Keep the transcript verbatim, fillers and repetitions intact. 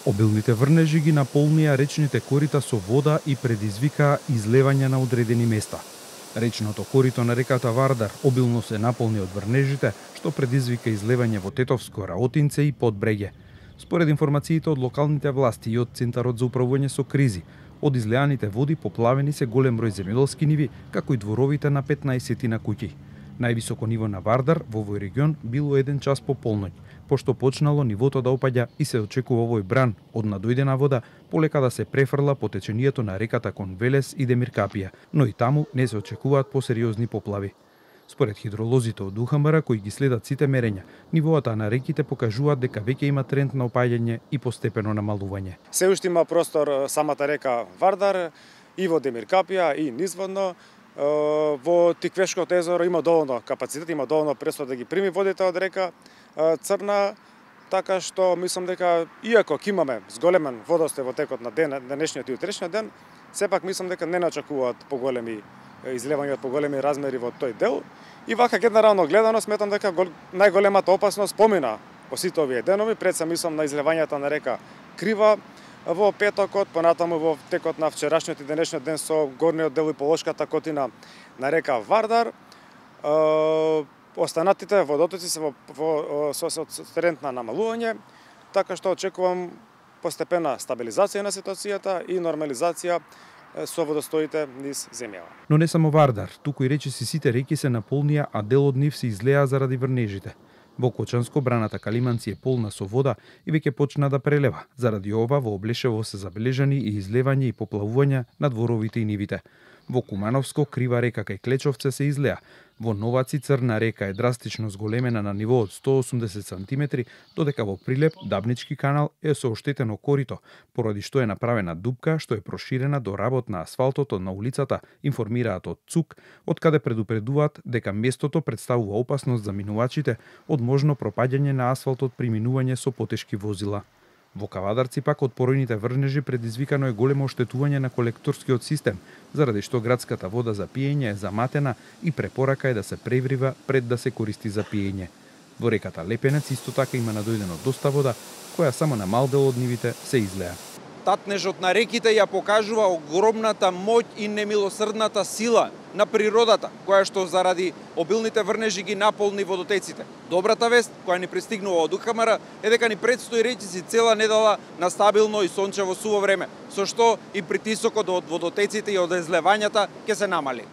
Обилните врнежи ги наполнија речните корита со вода и предизвикаа излевање на одредени места. Речното корито на реката Вардар обилно се наполни од врнежите, што предизвика излевање во Тетовско, Раотинце и Подбреге. Според информациите од локалните власти и од Центарот за управување со кризи, од излеаните води поплавени се голем број земјоделски ниви, како и дворовите на петнаесет на куќи. Највисоко ниво на Вардар во овој регион било еден час по полноќ, пошто почнало нивото да опаѓа и се очекува овој бран од надојдена вода полека да се префрла по течението на реката кон Велес и Демиркапија, но и таму не се очекуваат посериозни поплави. Според хидролозите од УХМР кои ги следат сите мерења, нивоата на реките покажуваат дека веќе има тренд на опаѓање и постепено намалување. Се уште има простор самата река Вардар и во Демиркапија и низводно. Во Тиквешкото езеро има доволно капацитет, има доволно престо да ги прими водите од река Црна, така што мислам дека иако ќе имаме зголемен водостој во текот на ден, денешниот и утрешниот ден, сепак мислам дека не очекуваат поголеми излевања од поголеми размери во тој дел. И вака генерално гледано сметам дека најголемата опасност помина по сите овие денови, пред се мислам на излевањата на река Крива во петокот, понатаму во текот на вчерашниот и денешниот ден со горниот дел и полошката котина на река Вардар. Е, останатите водотоци се во, во со, со, со тренд на намалување, така што очекувам постепена стабилизација на ситуацијата и нормализација со водостоите низ земјава. Но не само Вардар, туку и речиси сите реки се наполнија, а дел од нив се излеа заради врнежите. Во Кочанско браната Калиманци е полна со вода и веќе почна да прелева. Заради ова во Облешево се забележани и излевање и поплавувања на дворовите и нивите. Во Кумановско Крива река кај Клечовце се излеа. Во Новаци Црна река е драстично зголемена на ниво од сто осумдесет сантиметри, додека во Прилеп Дабнички канал е со оштетено корито, поради што е направена дупка што е проширена до работ на асфалтото на улицата, информираат од ЦУК, од каде предупредуваат дека местото представува опасност за минувачите од можно пропаѓање на асфалтот при минување со потешки возила. Во Кавадарци пак од поројните врнежи предизвикано е големо оштетување на колекторскиот систем, заради што градската вода за пиење е заматена и препорака е да се преврива пред да се користи за пиење. Во реката Лепенец исто така има надојдено доста вода, која само на мал дел од нивите се излеа. Татнежот на реките ја покажува огромната моќ и немилосрдната сила на природата, која што заради обилните врнежи ги наполни водотеците. Добрата вест, која ни пристигнува од УХМР, е дека ни предстои речиси цела недела на стабилно и сончево суво време, со што и притисокот од водотеците и од излевањата ќе се намали.